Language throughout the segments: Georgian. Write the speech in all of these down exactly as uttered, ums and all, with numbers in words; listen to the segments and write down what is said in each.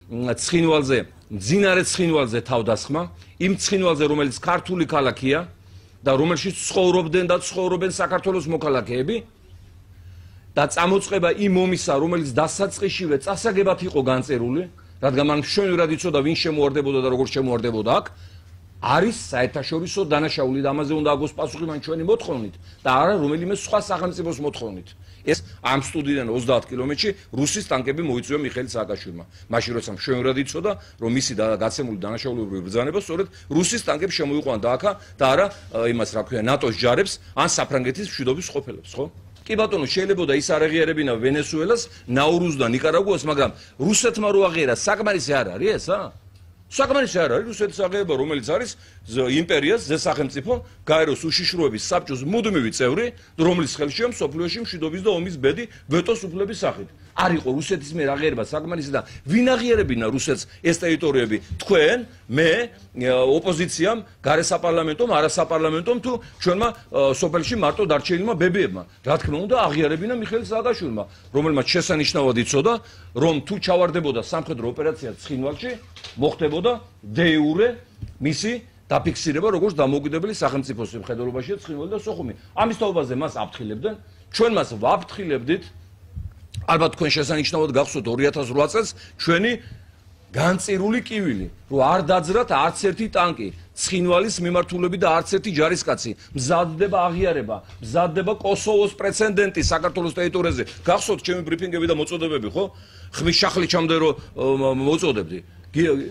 ცხინვალზე, მძინარე ცხინვალზე თავდასხმა, იმ ცხინვალზე, რომელიც ქართული ქალაქია და რომელშიც ცხოვრობდნენ და ცხოვრობენ საქართველოს მოქალაქეები და წამოწყება იმ ომისა, რომელიც დასაწყისშივე წასაგებად იყო განწერული, რადგან მან მშვენივრად იცოდა ვინ შემოარდებოდა და როგორ შემოარდებოდა აქ, არის საერთაშორისო დანაშაული და ამაზე უნდა აგოს პასუხი მან ჩვენი მოთხოვნით და არა რომელიმე სხვა სახელმწიფოს მოთხოვნით. ეს ამ სტუდიიდან ოცდაათ კილომეტრში რუსის ტანკები მოიწვია მიხეილ სააკაშვილმა. მაშინ როცა მშვენივრად იცოდა, რომ მისი გაცემული დანაშაულებრივი ბრძანება სწორედ რუსის ტანკებს შემოიყვანა აქა და არა იმას რა ქვია ნატოს ჯარებს ან საფრანგეთის მშვიდობის ყოფილებს, ხო? კი ბატონო, შეიძლება ის არ აღიარებინა ვენესუელას, ნაურუს და ნიკარაგუას, მაგრამ რუსეთმა რო აღიერა, საკმარისი არ არის ესა? საკმარისი არ არის რუსეთის აღება, რომელიც არის იმპერიას, ზესახელმწიფო, გაეროს უშიშროების საბჭოს მუდმივი წევრი, რომელიც ხელშია მსოფლიოში მშვიდობის და ომის ბედი ვეტოს უფლების სახით. არ იყო რუსეთის მიერ აღიარება საკმარისი და ვინ აღიარებინა რუსეთს ეს ტერიტორიები? თქვენ, მე, ოპოზიციამ, გარესაპარლამენტომ, არასაპარლამენტომ თუ ჩვენმა სოფელში მარტო დარჩენილმა ბებიებმა. რა თქმა უნდა, აღიარებინა მიხეილ სააკაშვილმა, რომელმაც შესანიშნავად იცოდა, რომ თუ ჩავარდებოდა სამხედრო ოპერაცია ცხინვალში, მოხდებოდა დე იურე მისი დაფიქსირება როგორც დამოუკიდებელი სახელმწიფოს მხედველობაშია ცხინვალი და სოხუმი. ამის თაობაზე მას აფრთხილებდნენ, ჩვენ მას ვაფრთხილებდით. ალბათ თქვენ შესანიშნავად გახსოვთ ორი ათას რვა წელს ჩვენი განწირული კივილი, რომ არ დაძრათ არც ერთი ტანკი, ცხინვალის მიმართულებით და არც ერთი ჯარისკაცი. მზადდება აღიარება, მზადდება კოსოვოს პრეცედენტი საქართველოს ტერიტორიაზე. გახსოვთ ჩემი ბრიფინგები და მოწოდებები, ხო? ხმის შახლიჩამდე რომ მოწოდებდი.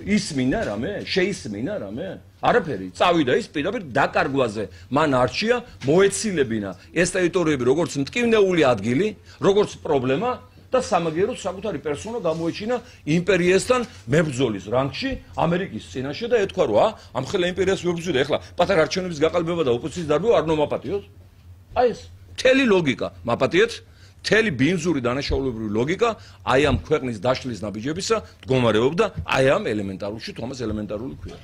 ისმინა რამე? შეისმინა რამე? არაფერი. წავიდა ის პირდაპირ დაკარგვაზე. მან არჩია მოეცილებინა ეს ტერიტორიები როგორც მტკივნეული ადგილი, როგორც პრობლემა და სამაგიეროდ საკუთარი პერსონა გამოეჩინა იმპერიასთან მებრძოლის რანგში ამერიკის წინაშე და ეთქვა რომ ა ამ ხელა იმპერიას ვებრძვიდა, ეხლა პატარა არჩევნების გაყალბება და ოპოზიციის დარბევა არ ნომაპატიოთ. აი ეს მთელი ლოგიკა მაპატიეთ, მთელი ბინძური დანაშაულებრივი ლოგიკა აი ამ ქვეყნის დაშლის ნაბიჯებისა მდგომარეობდა აი ამ ელემენტარულში, თომას ელემენტარული ქვია.